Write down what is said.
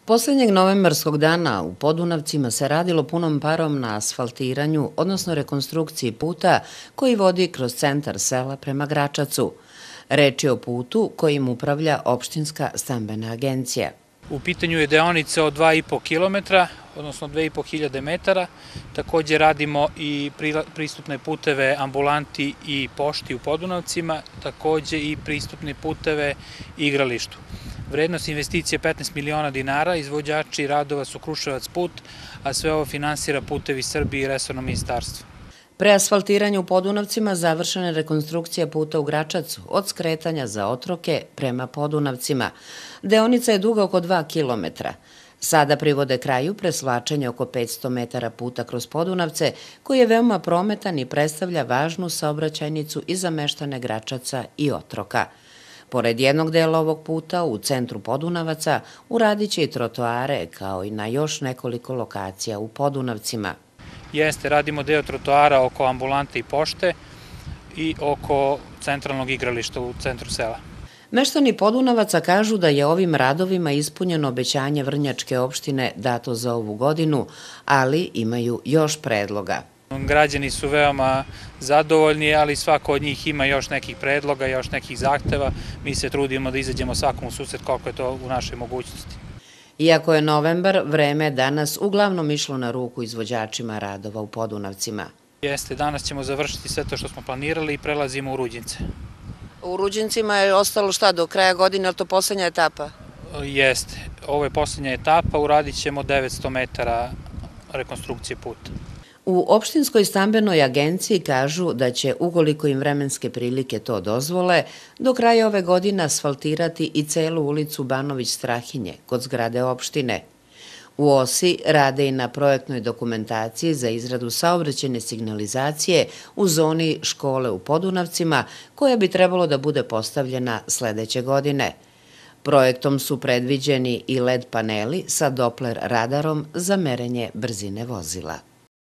Poslednjeg novembarskog dana u Podunavcima se radilo punom parom na asfaltiranju, odnosno rekonstrukciji puta koji vodi kroz centar sela prema Gračacu. Reč je o putu kojim upravlja opštinska stambena agencija. U pitanju je deonica od 2,5 km, odnosno 2500 metara. Takođe radimo i pristupne puteve ambulanti i pošti u Podunavcima, takođe i pristupne puteve igralištu. Vrednost investicije je 15 miliona dinara, izvođači radova su Kruševac put, a sve ovo finansira Putevi Srbije i resorno ministarstvo. Pre asfaltiranja u Podunavcima završena je rekonstrukcija puta u Gračacu od skretanja za Otroke prema Podunavcima. Deonica je duga oko 2 km. Sada privode kraju presvlačenje oko 500 metara puta kroz Podunavce, koji je veoma prometan i predstavlja važnu saobraćajnicu i za meštane Gračaca i Otroka. Pored jednog dela ovog puta, u centru Podunavaca, uradit će i trotoare, kao i na još nekoliko lokacija u Podunavcima. Radimo deo trotoara oko ambulante i pošte i oko centralnog igrališta u centru sela. Meštani Podunavaca kažu da je ovim radovima ispunjeno obećanje Vrnjačke opštine dato za ovu godinu, ali imaju još predloga. Građani su veoma zadovoljni, ali svako od njih ima još nekih predloga, još nekih zahteva. Mi se trudimo da izađemo svakom u susret koliko je to u našoj mogućnosti. Iako je novembar, vreme je danas uglavnom išlo na ruku izvođačima radova u Podunavcima. Danas ćemo završiti sve to što smo planirali i prelazimo u Ruđince. U Ruđincima je ostalo šta, do kraja godine, ali to poslednja etapa? Jeste, ovo je poslednja etapa, uradit ćemo 900 metara rekonstrukcije puta. U opštinskoj stambenoj agenciji kažu da će, ukoliko im vremenske prilike to dozvole, do kraja ove godine asfaltirati i celu ulicu Banović-Strahinje kod zgrade opštine. U OSI rade i na projektnoj dokumentaciji za izradu saobraćajne signalizacije u zoni škole u Podunavcima, koja bi trebalo da bude postavljena sledeće godine. Projektom su predviđeni i LED paneli sa Doppler radarom za merenje brzine vozila.